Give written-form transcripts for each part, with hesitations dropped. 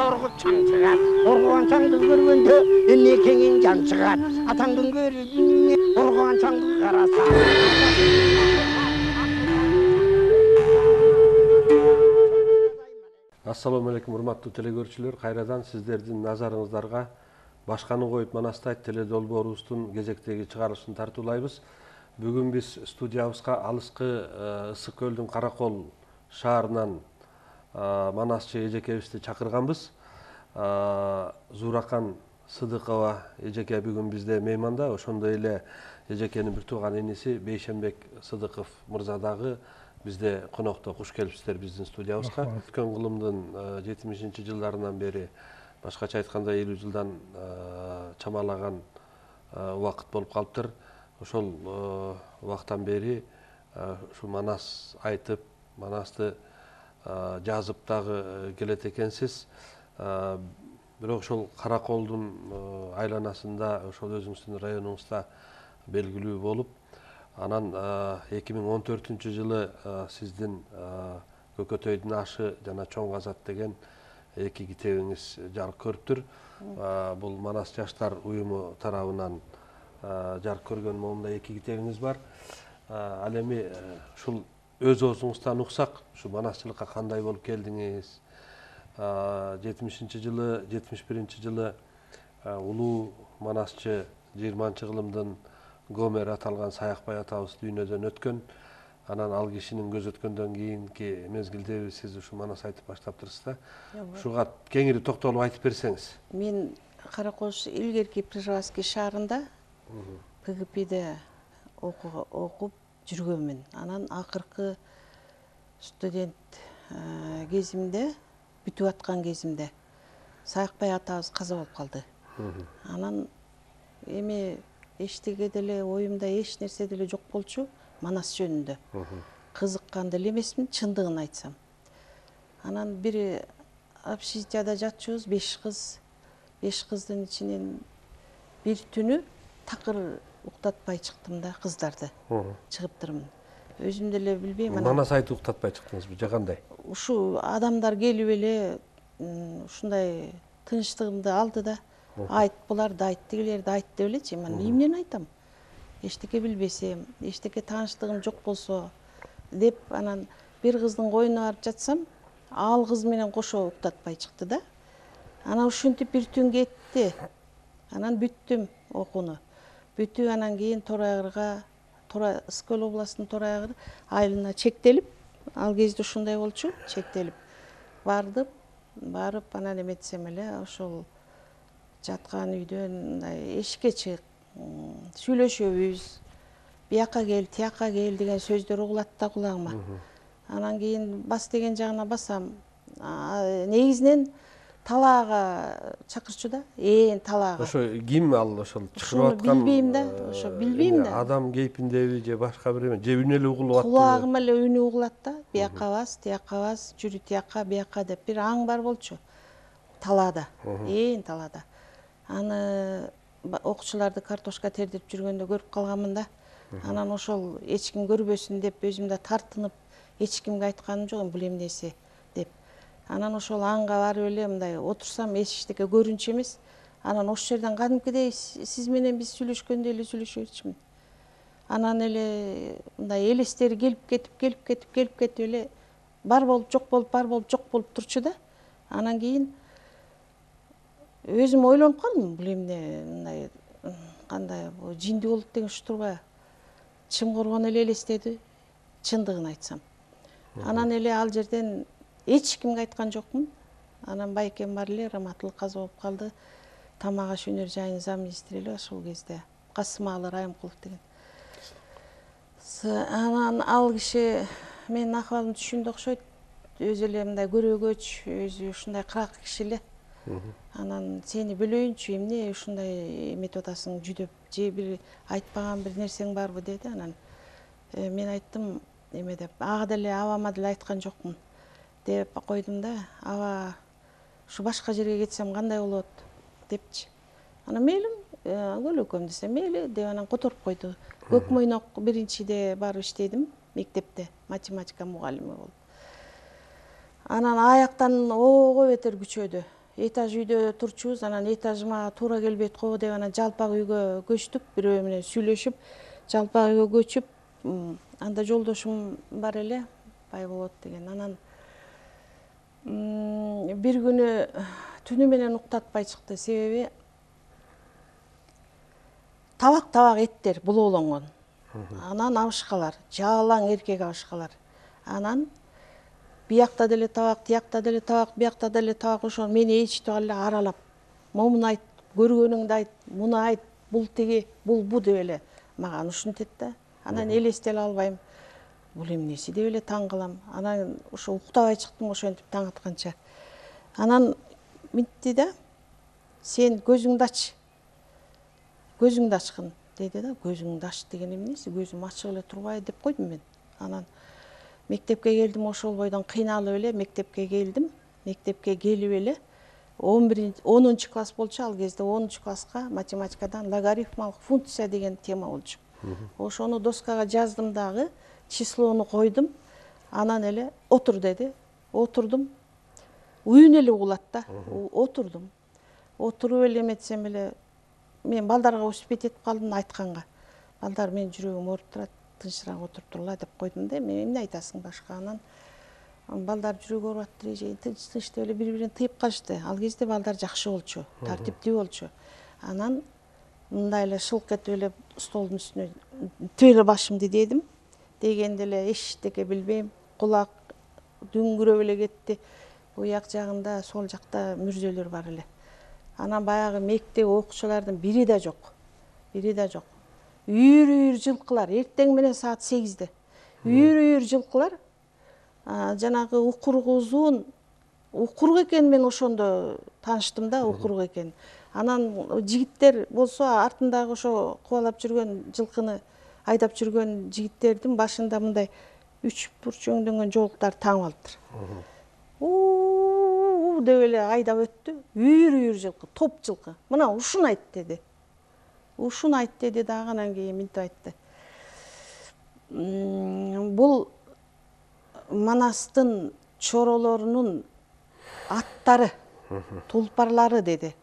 оргутчаң чыгат. Оргуганчаңды көргөндө энекеңин жан чыгат. Атаңдын көрүнү оргуганчаңды караса. Assalomu alaykum урматтуу телекөрүүчүлөр. Кайрадан сиздердин назарыңыздарга башканы коюп Манастайт теледолбоорубуздун кезектеги чыгарылышын тартуулайбыз. Бүгүн биз студиябызга алыскы Ысык көлдүн Каракол шаарынан Манасчы эжекебизди чакырганбыз. Зуракан Сыдыкова эжеке бүгүн бизде мейманда, ошондой эле эжекенин бир тууган иниси Бейшенбек Сыдыков мырза дагы бизде конокто. Куш келипсиздер биздин студиябызга. Өткөн кылымдын 70-жылдарынан бери, башкача айтканда 50 жылдан чамалаган убакыт болуп калыптыр. Ошол убактан бери ушу Манас айтып, Манасты жазып дагы келет экенсиз. Бирок ошол Караколдун айланасында, ошол өзүңүздүн районуңузда белгилүү болуп, анан 2014-жылы сиздин Көкөтөйдүн ашы жана Чоң Казат деген эки китебиңиз жарык көрүптүр. Бул Манас жаштар уюму тарабынан жарык көргөн момундай эки китебиңиз бар. Ал эми ушул өз оозуңуздан уксак, ушу манасчылыкка кандай болуп келдиңиз? 70-жылы, 71-жылы улуу манасчы 20-кылымдын Гомер аталган Саякбай атабыз дүйнөдөн өткөн. Анан ал кишинин көз өткөндөн кийинки мезгилде сиз ушу Манас айтып баштаптырсыз да. Ушуга кеңири токтолуп айтып берсеңиз. Мен Каракол илгерки Прижевский шаарында ПГП'де окуп жүргөнмүн. Анан акыркы студент кезимде, бүтүп аткан кезимде Саякбай атабыз каза болуп калды. Анан эми эчтеге деле оюмда эч нерсе деле жок болчу Манас жөнүндө. Кызыккан деле эмесмин, чындыгын айтсам. Анан бир общежитияда жатчубуз, 5 кыз. 5 кыздын ичинен бир түнү такыр уктатпай чыктым да кыздарды. Чыгыптырмын. Өзүм деле билбейм. Манас айтып уктатпай чыктыңызбы же кандай? Ушу адамдар келип эле ушундай тынчтыгымды алды да. Айт буларды айт, тигилерди айт деп элечи. Мен эмнени айтам? Эчтеке билбесем, эчтеке тааныштыгым жок болсо деп, анан бир кыздын койуна барып жатсам, ал кыз менен кошо уктатпай чыкты да. Анан ушинтип бир түн кетти. Анан бүттүм окууну. Бүтүп анан кийин Ысык көл областынын Торой айгыр айылына чектелип, ал кезде ушундай болчу, чектелип барып анан эметсем эле ошол жаткан үйдөн мындай эшикке чык, сүйлөшөбүз, бияка кел, тияка кел деген сөздөр угулат да кулагыма. Анан кийин бас деген жагына басам. Негизинен талаага чакырчу да, талаага. Ошо ким ал ошол чакырып аткан? Билбейм да, ошо билбейм да. Адам кейпиндеби же башка бир эме, же үнү эле угулуп аттыбы? Кулагыма эле үнү угулат да, бияка бас, тияка бас, жүрү тияка, бияка деп бир аң бар болчу. Талаада, талаада. Аны окуучуларды картошка тердип жүргөндө көрүп калганмын да. Анан ошол эч ким көрбөсүн деп өзүмдө тартынып, эч кимге айтканым жок, бул эмнеси деп. Анан ошол аңга барып эле мындай отурсам эчтеке көрүнчү эмес. Анан ошол жерден кадимкидей сиз менен биз сүйлөшкөндөй эле сүйлөшө берчүмүн. Анан эле мындай элестери келип кетип эле бар болуп жок болуп, бар болуп жок болуп турчу да. Анан кийин өзүм ойлонуп калдым, бул эмне мындай кандай жиндүү болуп деген уштурбайбы? Чымкоргон эле элестеди, чындыгын айтсам. Анан эле ал жерден эч кимге айткан жокмун. Анан байкем бар эле, Раматылык каза болуп калды. Тамак аш өнөр жайынын замминистри эле ошол кезде. Касымалы Райымкулов деген. Анан ал киши менин акыбалымды түшүндү окшойт. Өзү эле мындай көрөгөч, өзү ушундай кырак киши эле. Анан сени бөлөйүнчү, эмне ушундай эметип атасың, жүдөп, же бир айтпаган бир нерсең барбы деди. Анан мен айттым, эме деп, ага деле абама деле айткан жокмун деп койдум да. Аба ушу башка жерге кетсем кандай болот депчи. Анан мейлим, көлөкөм десе мейли деп анан которуп койду. Көк Мойнок биринчиде барып иштедим, мектепте математика мугалими болуп. Анан аяктан ого бетер күчөдү. этаж үйдө турчубуз, анан этажыма туура келбейт го деп анан жалпак үйгө көчтүк, бирөө менен сүйлөшүп, жалпак үйгө көчүп, анда жолдошум бар эле, Байболот деген. Анан бир күнү түнү менен уктатпай чыкты, себеби табак эттер булоолонгон. Анан абышкалар, жалаң эркек абышкалар. Анан биякта деле табак, тиякта деле табак, биякта деле табак, ошо мени ээрчитип алып эле аралап, момуну айт, көргөнүңдү айт, муну айт, бул тиги, бул бу деп эле мага ушинтет да. Анан элестете албайм. Бул эмнеси деп эле таң калам. Анан ошо уктабай чыктым ошентип таң атканча. Анан мынтти да, сен көзүңдү ач. Көзүңдү ачкын деди да. Көзүңдү ач деген эмнеси? Көзүм ачык эле турбайбы деп койдум мен. Анан мектепке келдим, ошол бойдон кыйналып эле мектепке келдим. Мектепке келип эле 10 класс болчу, ал кезде 10 класска математикадан логарифмалык функция деген тема болчу. Ошону доскага жаздым дагы, числону койдум. Анан эле отур деди. Отурдум. Үйүн эле угулат да. Отурдум. Отуруп эле эметсем эле мен балдарга успеть этип калдым айтканга. Балдар, менин жүрөгүм ооруп турат, тынчыраак отуруп тургула деп койдум да. Мен эмне айтасың башка? Анан балдар жүрөгү ооруп атты, тынч деп эле бири-бирин тыйып калышты. Ал кезде балдар жакшы болчу, тартиптүү болчу. Анан мындай эле шылк этип эле столдун үстүнө тип эле башымды дедим. Дегенде эле эчтеке билбейм, кулак дүңгүрөп эле кетти. Буяк жагында, сол жакта мүрзөлөр бар эле. Анан баягы мектеп окуучулардын бири да жок. Бири да жок. Үйүр жылкылар, эртең менен саат 8-де. Үйүр жылкылар, жанагы укургузун, укурук экен, мен ошондо тааныштым да, укурук экен. Анан жигиттер болсо артындагы ошо кубалап жүргөн жылкыны айдап жүргөн жигиттердин башында мындай 3 бурч өңдөнгөн жоолуктар тагып алыптыр. Деп эле айдап өттү. Үйүр жылкы, топ жылкы. Мына ушуну айт деди. Ушуну айт деди дагы, анан кийин мынтип айтты. Бул Манастын чоролорунун аттары, тулпарлары деди.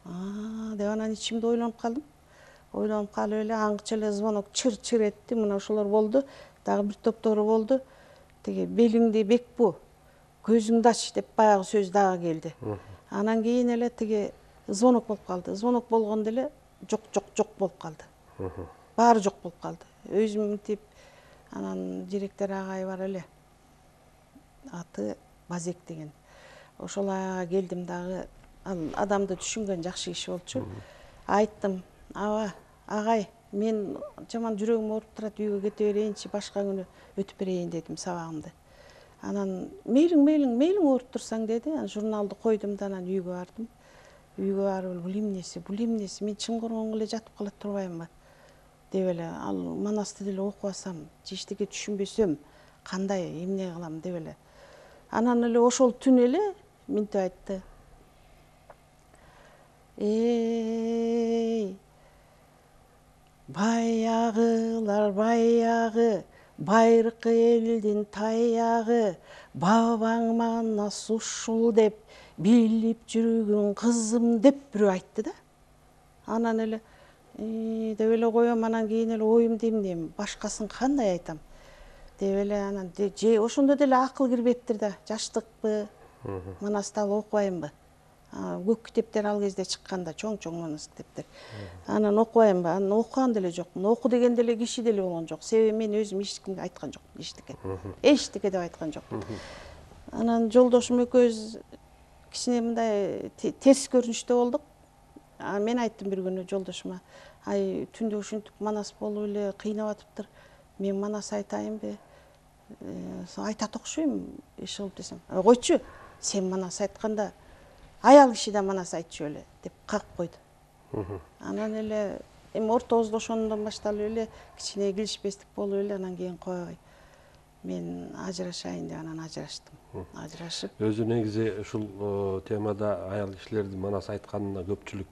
Деп анан ичимде ойлонуп калдым. Ойлонуп калып эле аңчы эле звонок чыр-чыр этти. Мына ошолор болду. Дагы бир топтору болду. Тиги белиңди бекпу, көзүңдү ач деп баягы сөз дагы келди. Анан кийин эле тиги звонок болуп калды. Звонок болгондо эле жок болуп калды. Баары жок болуп калды. Өзүм мынтип, анан директор агай бар эле. Аты Базек деген. Ошол аяга келдим дагы. Ал адамды түшүнгөн жакшы киши болчу. Айттым, аба, агай, мен жаман жүрөгүм ооруп турат, үйгө кете берейинчи, башка күнү өтүп берейин дедим сабагымды. Анан мейлиң ооруп турсаң деди. Анан журналды койдум да анан үйгө бардым. Үйгө барып бул эмнеси, мен чын коргонго эле жатып кала турбаймынбы деп эле, ал Манасты деле окубасам, же эчтеке түшүнбөсөм, кандай, эмне кылам деп эле. Анан эле ошол түн эле мынтип айтты. Баягылар баягы, байыркы элдин таягы, бабаң Манас ушул деп билип жүргүн кызым деп бирөө айтты да. Анан эле деп эле коем, анан кийин эле оюмду эмнем, башкасын кандай айтам деп эле, анан же ошондо деле акыл кирбептир да, жаштыкпы, Манасты алып окубаймбы. Көк китептер ал кезде чыкканда, чоң Манас китептер. Анан окубаймбы, анан окуган деле жокмун. Оку деген деле киши деле болгон жок. Себеби мен өзүм эч кимге айткан жокмун, эчтеке деп айткан жокмун. Анан жолдошум экөөбүз кичине мындай терс көрүнүштө болдук. Мен айттым бир күнү жолдошума, ай түндө ушинтип Манас болуп эле кыйнап атыптыр. Мен Манас айтайынбы? Айтат окшойм, иш кылып десем. Койчу, сен Манас айтканда аял киши да Манас айтчу эле деп кагып койду. Анан эле ортобузда ошондон башталып эле кичине келишпестик болуп эле, анан кийин койбой мен ажырашайын деп анан ажыраштым. Ажырашып. Өзү негизи ушул темада аял кишилердин Манас айтканына көпчүлүк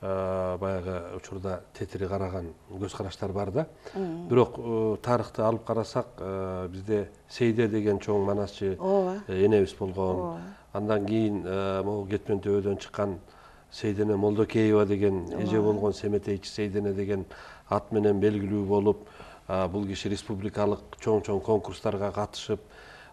баягы учурда тетири караган көз караштар бар да. Бирок тарыхты алып карасак, бизде Сейде деген чоң манасчы энебиз болгон. Андан кийин могу Кетмен төбөдөн чыккан Сейдене Молдокеева деген эже болгон, Семетейчи Сейдене деген ат менен белгилүү болуп, бул киши республикалык чоң конкурстарга катышып,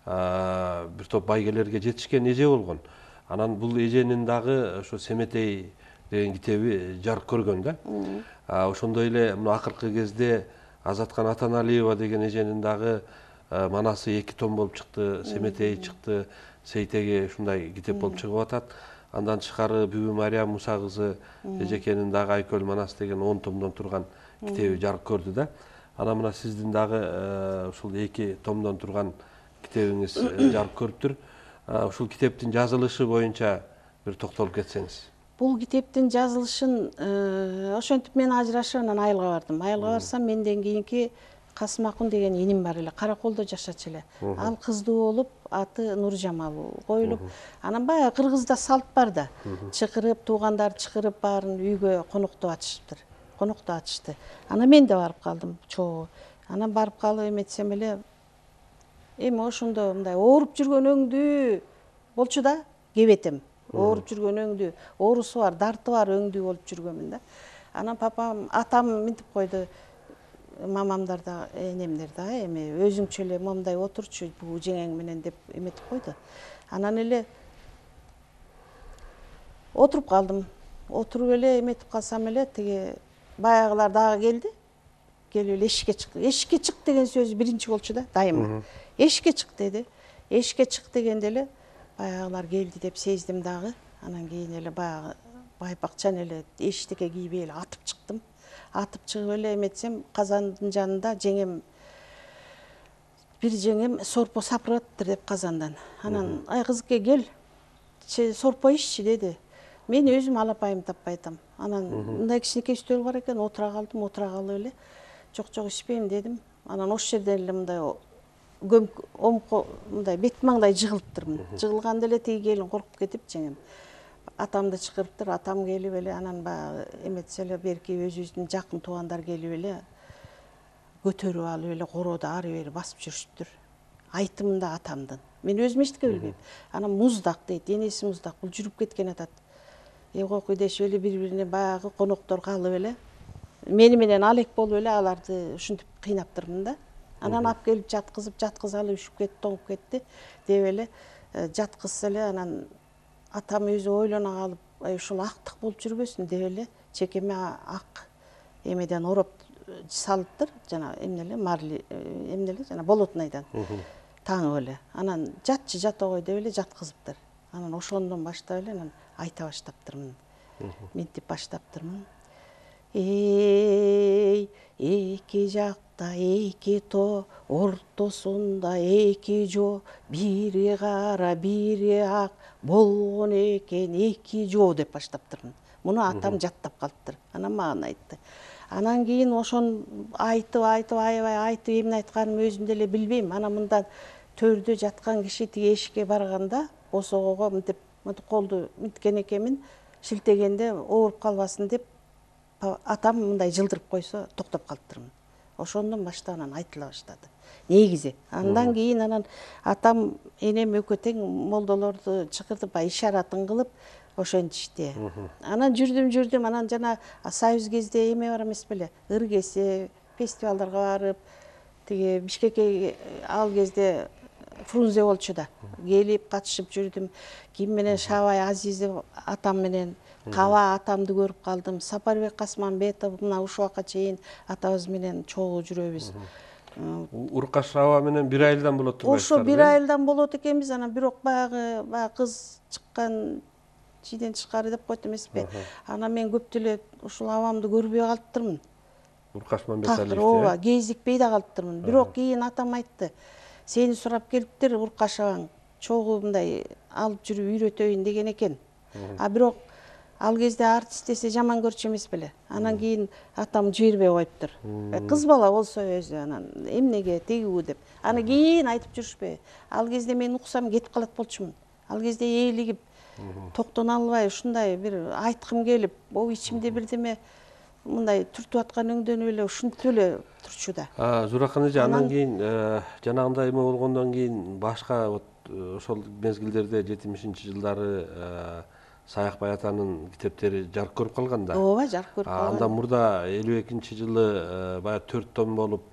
бир топ байгелерге жетишкен эже болгон. Анан бул эженин дагы ошо Семетей деген китеби жарык көргөн да. Ошондой эле мына акыркы кезде Азаткан Атаналиева деген эженин дагы манасы 2 том болуп чыкты, Семетей чыкты, Сейтеге ушундай китеп болуп чыгып атат. Андан тышкары Бүбү Мариям Муса кызы эжекенин дагы Айкөл Манас деген 10 томдон турган китеби жарык көрдү да. Анан мына сиздин дагы ушул 2 томдон турган китебиңиз жарык көрүптүр. Ушул китептин жазылышы боюнча бир токтолуп кетсеңиз. Бул китептин жазылышын ошентип мен ажырашып анан айылга бардым. Айылга барсам менден кийинки Касымакун деген иним бар эле, Караколдо жашачу эле. Ал кыздуу болуп, аты Нуржамал коюлуп, анан баягы Кыргызда салт бар да. Чакырып, туугандар чакырып баарын үйгө коноктоп атышты. Анан мен да барып калдым, чогуу. Анан барып калып эметсем эле эми ошондо мындай ооруп жүргөн өңдүү болчу да, кебетем. Ооруп жүргөн өңдүү, оорусу бар, дарты бар өңдүү болуп жүргөнмүн да. Анан папам, атам мынтип койду, мамамдар да, энемдер да, эми өзүңчө эле момундай отурчу бул жеңең менен деп эметип койду. Анан эле отуруп калдым. Отуруп эле эметип калсам эле тиги баягылар дагы келди. Келип эле эшикке чык. Эшикке чык деген сөзү биринчи болчу да, дайыма. Эшикке чык деди. Эшикке чык дегенде эле баягылар келди деп сездим дагы. Анан кийин эле баягы байпакчан эле эчтеке кийбей эле атып чыктым. Атып чыгып эле эметсем, казандын жанында бир жеңем сорпо сапырып атыптыр деп казандан. Анан ай кызыке кел, сорпо иччи деди. Мен өзүм алапайым таппай атам. Анан мындай кичинекей стөл бар экен, отура калдым, отура калып эле жок ичпейм дедим. Анан ошол жерден эле мындай мындай бет маңдай жыгылыптырмын. Жыгылганда эле тиги келин коркуп кетип жеңем. Атамды чакырыптыр, атам келип эле анан баягы эметсе эле берки өзүбүздүн жакын туугандар келип эле көтөрүп алып эле короодо ары бери басып жүрүшүптүр. Айтымында атамдын. Мен өзүм эчтеке билбейм. Анан муздак дейт, энеси муздак, бул жүрүп кеткен атат. Койкуй дешип эле бири-бирине баягы коноктор калып эле мени менен алек болуп эле аларды ушинтип кыйнаптырмын да. Анан алып келип жаткызып алып үшүп кетти, тоңуп кетти деп эле жаткызса эле анан атам өзү ойлоно калып, ушул актык болуп жүрбөсүн деп эле чекеме ак эмеден ороп салыптыр, жана эмне эле марли, эмне эле жана болотнайдан таңып эле. Анан жатчы жата кой деп эле жаткызыптыр. Анан ошондон баштап эле анан айта баштаптырмын. Мынтип баштаптырмын. Эй, эки жакта эки тоо, ортосунда эки жоо, бири кара, бири ак болгон экен эки жоо деп баштаптырмын. Муну атам жаттап калыптыр. Анан мага айтты. Анан кийин ошон айтып, аябай айтып, эмне айтканымды өзүм деле билбейм. Анан мындан төрдө жаткан киши тиги эшикке барганда босогого мынтип колду мынткен экенмин, шилтегенде ооруп калбасын деп атам мындай жылдырып койсо токтоп калыптырмын. Ошондон баштап анан айтыла баштады. Негизи. Андан кийин анан атам, энем экөө тең молдолорду чакыртып ишаратын кылып ошентишти. Анан жүрдүм, анан жана союз кезде эме бар эмес беле? Ыргесе, фестивалдарга барып, тиги Бишкекке ал кезде Фрунзе болчу да. Келип катышып жүрдүм. Ким менен Шабай Азизов атам менен, Каба атамды көрүп калдым. Сапарбек Касманбетов мына ушул убакка чейин атабыз менен чогуу жүрөбүз. Уркаш Шаба менен бир айылдан болот турбайсыздар? Ошо бир айылдан болот экенбиз, анан бирок баягы кыз чыккан чийден тышкары деп койт эмеспи? Анан мен көп деле ушул абамды көрбөй калыптырмын. Уркаш Мамбеталиев. Ооба, кезикпей да калыптырмын. Бирок кийин атам айтты. Сени сурап келиптир Уркаш абаң. Чогуу мындай алып жүрүп үйрөтөйүн деген экен. Бирок ал кезде артист десе жаман көрчү эмес беле. Анан кийин атам жибербей коюптур. Кыз бала болсо өзү анан эмнеге тегүү деп. Аны кийин айтып жүрүшпөй. Ал кезде мен уксам кетип калат болчумун. Ал кезде ээлигип, токтоно албай ушундай бир айткым келип, ичимде бирдеме мындай түртүп аткан өңдөнүп эле ушинтип эле турчу да. Зуракан эже, андан кийин жанагындай эме болгондон кийин башка ошол мезгилдерде 70-жылдары Саякбай атанын китептери жарык көрүп калган да. Ооба, жарык көрүп калган. Андан мурда 52-жылы баягы 4 том болуп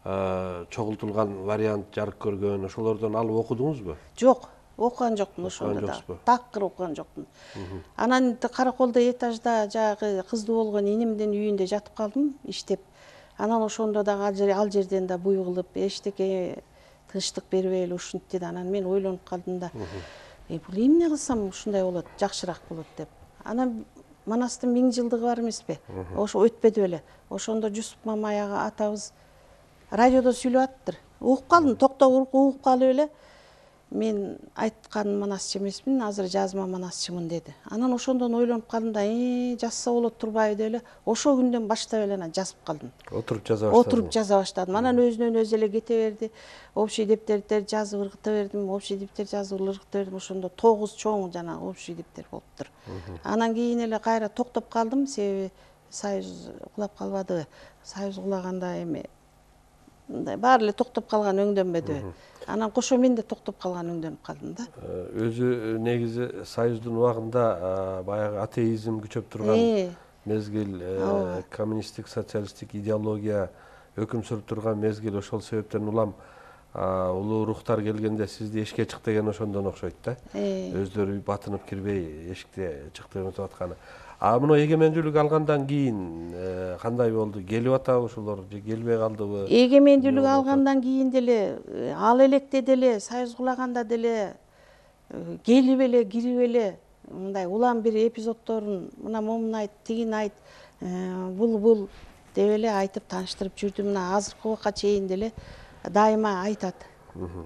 чогултулган вариант жарык көргөн. Ошолордон алып окудуңузбу? Жок, окуган жокмун ошондо да. Такыр окуган жокмун. Анан Караколдо этажда жагы кыздуу болгон инимдин үйүндө жатып калдым, иштеп. Анан ошондо дагы ал жерден да буй кылып, эчтеке тынчтык бербей эле ушинтти да. Анан мен ойлонуп калдым да, бул эмне кылсам ушундай болот, жакшыраак болот деп. Анан Манастын 1000 жылдыгы бар эмеспи? Ошо өтпөдү беле. Ошондо Жусуп Мамай атабыз радиодо сүйлөп аттыр. Угуп калдым, токтоп угуп калып эле мен айткан манасчы эмесмин, азыр жазма манасчымын деди. Анан ошондон ойлонуп калдым да, жазса болот турбайбы деп эле ошол күндөн баштап эле анан жазып калдым. Отуруп жаза баштадым. Отуруп жаза баштадым. Анан өзүнөн өзү эле кете берди. Общий дептерди жазып ыргыта бердим, общий дептер жазып ыргыта бердим. Ошондо 9 чоң жана общий дептер болуптур. Анан кийин эле кайра токтоп калдым, себеби Союз кулап калбадыбы. Союз кулаганда эми мындай баары эле токтоп калган өңдөнбөдүбү. Анан кошо мен да токтоп калган өңдөнүп калдым да. Өзү негизи Союздун убагында баягы атеизм күчөп турган мезгил, коммунисттик социалисттик идеология өкүм сүрүп турган мезгил. Ошол себептен улам улуу рухтар келгенде сизди эшикке чык деген ошондон окшойт да. Өздөрү батынып кирбей эшикте чык деп өтүп атканы. Мына эгемендүүлүк алгандан кийин кандай болду? Келип атабы ушулар же келбей калдыбы? Эгемендүүлүк алгандан кийин деле, ал электе деле, Союз кулаганда деле келип эле, кирип эле мындай улам бир эпизоддорун мына момун айт, тигин айт, бул деп эле айтып тааныштырып жүрдүм. Мына азыркы убакка чейин деле дайыма айтат.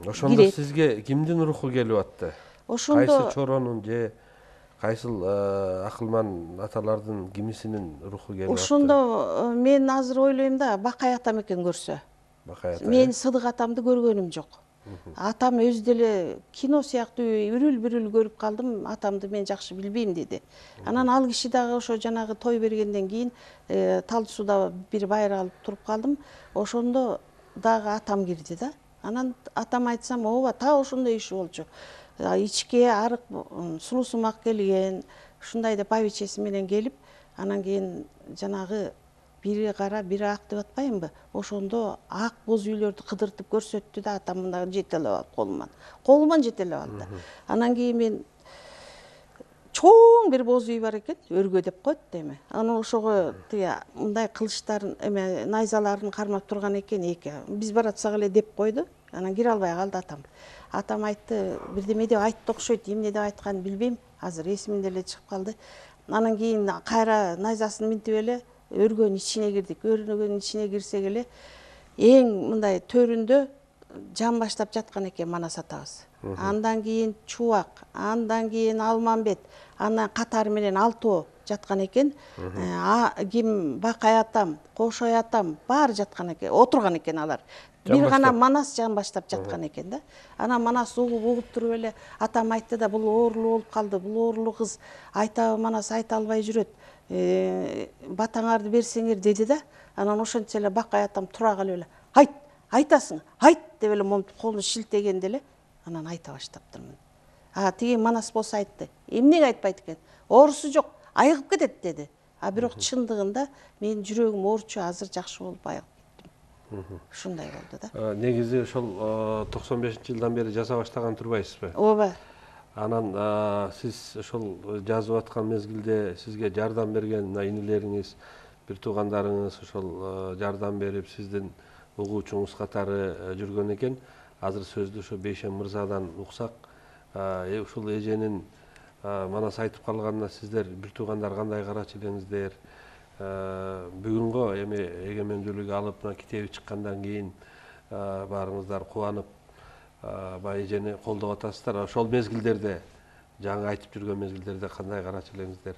Ошондо сизге кимдин руху келип атты? Ошондо кайсы чоронун же кайсыл акылман аталардын кимисинин руху келип атты? Ошондо мен азыр ойлойм да, Бакай атам экен көрсө. Бакай ата. Мен Сыдык атамды көргөнүм жок. Атам өзү деле кино сыяктуу үрүл-бүрүл көрүп калдым, атамды мен жакшы билбейм деди. Анан ал киши дагы ошо жанагы той бергенден кийин Талды сууда бир байыр алып туруп калдым. Ошондо дагы атам кирди да. Анан атам айтсам, ооба, так ошондой иши болчу. Ичке арык сулуусумак келген, ушундай деп байбичеси менен келип, анан кийин жанагы бири кара, бири ак деп атпаймынбы? Ошондо ак боз үйлөрдү кыдыртып көрсөттү да, атам мындай жетелеп алып колуман жетелеп алды. Анан кийин мен чоң бир боз үй бар экен, өргө деп коет да эми. Анан ошого тиги мындай кылычтарын, эме найзаларын кармап турган экен эки. Биз баратсак эле деп койду. Анан кире албай калды атам. Атам айтты, бирдеме деп айтты окшойт, эмне деп айтканын билбейм. Азыр эсимден эле чыгып калды. Анан кийин кайра найзасын минтип эле өргөнүн ичине кирдик. Өргөнүн ичине кирсек эле эң мындай төрүндө жан баштап жаткан экен Манас атабыз. Андан кийин Чубак, андан кийин Алмамбет, андан катары менен Алтоо жаткан экен. Ким Бакай атам, Кошой атам баары жаткан экен, отурган экен алар. Бир гана Манас жан баштап жаткан экен да. Анан Манас угуп туруп эле атам айтты да, бул оорулуу болуп калды, бул оорулуу кыз айтабы Манас айта албай жүрөт. Батаңарды берсеңер деди да. Анан ошентсе эле Бакай атам тура калып эле, айт, айтасың, айт деп эле момунтип колун шилтегенде эле анан айта баштаптырмын. Тиги Манас болсо айтты, эмнеге айтпайт экен? Оорусу жок, айыгып кетет деди. Бирок чындыгында менин жүрөгүм оорчу, азыр жакшы болуп айыгып кеттим. Ушундай болду да. Негизи ошол 95-жылдан бери жаза баштаган турбайсызбы? Ооба. Анан сиз ошол жазып аткан мезгилде сизге жардам берген инилериңиз, бир туугандарыңыз ошол жардам берип, сиздин угуучуңуз катары жүргөн экен. Азыр сөздү ошо Бейшен мырзадан уксак, ушул эженин Манас айтып калганына сиздер бир туугандар кандай карачу элеңиздер? Бүгүнгө эми эгемендүүлүк алып, мына китеби чыккандан кийин баарыңыздар кубанып, баягы эжени колдоп атасыздар. Ошол мезгилдерде, жаңы айтып жүргөн мезгилдерде кандай карачу элеңиздер?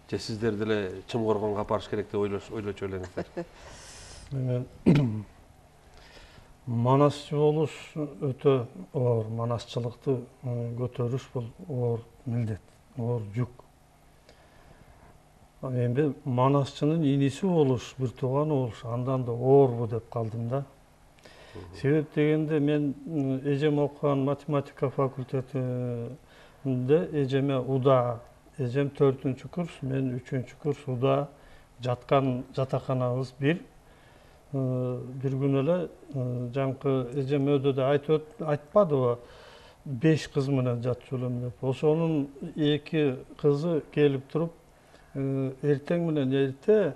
Же сиздер деле чым коргонго апарыш керек деп ойлочу элеңиздер? Манасчы болуш өтө оор, манасчылыкты көтөрүш бул оор милдет, оор жүк. Эми манасчынын иниси болуш, бир тууганы болуш, андан да оорбу деп калдым да. Себеп дегенде мен эжем окуган математика факультетинде эжеме уда, эжем 4-курс, мен 3-курс уда жаткан жатаканабыз бир. Бир күнү эле жаңкы эжем өйдө айтпадыбы 5 кыз менен жатчу элем деп. Ошонун 2 кызы келип туруп эртең менен эрте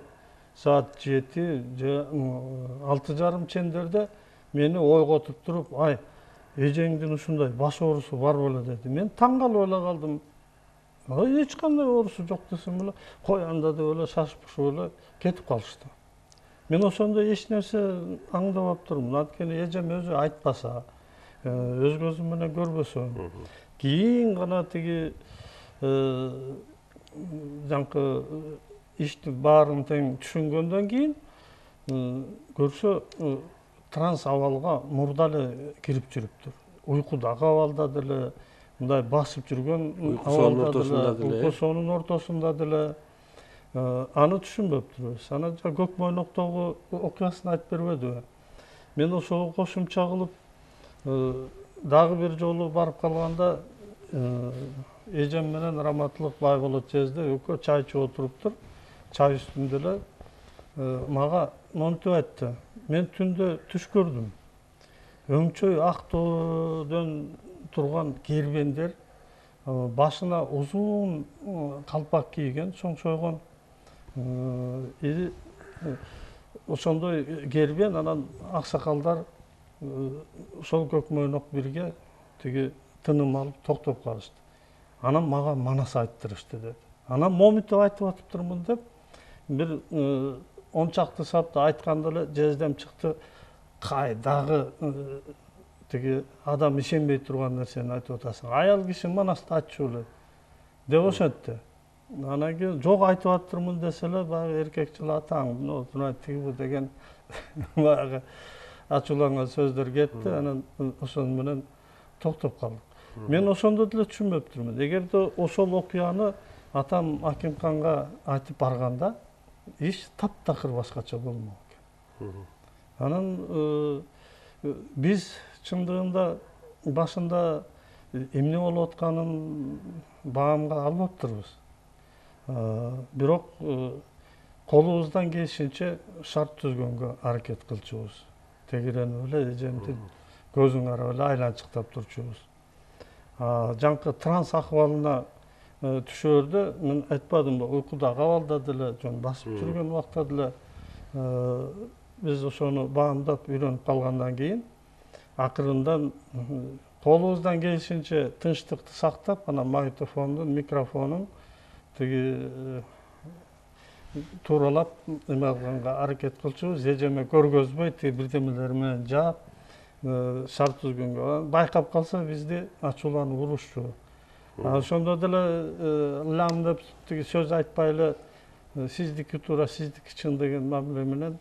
саат 7 же 6:30 чендерде мени ойготуп туруп, ай, эжеңдин ушундай баш оорусу бар беле деди. Мен таң калып эле калдым. Эч кандай оорусу жок десем эле, кой анда деп эле шашып эле кетип калышты. Мен ошондо эч нерсе аңдабап турмун. Анткени эжем өзү айтпаса, өз көзүм менен көрбөсөм. Кийин гана тиги жаңкы ишти баарын тең түшүнгөндөн кийин көрсө транс абалга мурда эле кирип жүрүптүр. Уйкудагы абалда деле, мындай басып жүргөн абалда деле, уйку соонун ортосунда деле аны түшүнбөптүрбүз. Анан Көк Мойноктогу окуясын айтып бербедиби? Мен ошого кошумча кылып дагы бир жолу барып калганда эжем менен Раматылык Байболот жезде экөө чай ичип отуруптур. Чай үстүндө эле мага монтип айтты. Мен түндө түш көрдүм. Өңчөй ак тоодон турган кербендер, башына узун калпак кийген, чоңшойгон. Ошондой кербен, анан аксакалдар ошол Көк Мойнок бирге тиги тыным алып токтоп калышты. Анан мага манас айттырышты деди. Анан моминтип айтып атыптырмын деп бир 10 чакты сапты айтканда эле жездем чыкты. Кай дагы тиги адам ишенбей турган нерсени айтып атасың. Аял киши манасты айтчу эле деп ошентти. Анан кийин жок айтып атырмын десе эле баягы эркекчил атаң, тиги деген баягы ачууланган сөздөр кетти. Анан ошону менен токтоп калдык. Мен ошондо деле түшүнбөптүрмүн. Эгерде ошол окуяны атам Акимканга айтып барганда, иш таптакыр башкача болмок экен. Анан биз чындыгында башында эмне болуп атканын баамга албаптырбыз. Бирок колубуздан келишинче шарт түзгөнгө аракет кылчубуз. Тегеренип эле эжемдин көзүн карап эле айланчыктап турчубуз. Жаңкы транс акыбалына түшөрдө мен айтпадымбы, уйкудагы абалда деле, жөн басып жүргөн убакта деле биз ошону баамдап үйрөнүп калгандан кийин акырындан колубуздан келишинче тынчтыкты сактап, анан магнитофондун, микрофонун тиги тууралап эме кылганга аракет кылчубуз. Эжеме көргөзбөй тиги бирдемелер менен жаап шарт түзгөнгө байкап калса бизди ачууланып урушчу. Ошондо деле лам деп тиги сөз айтпай эле сиздики туура, сиздики чын деген мамиле менен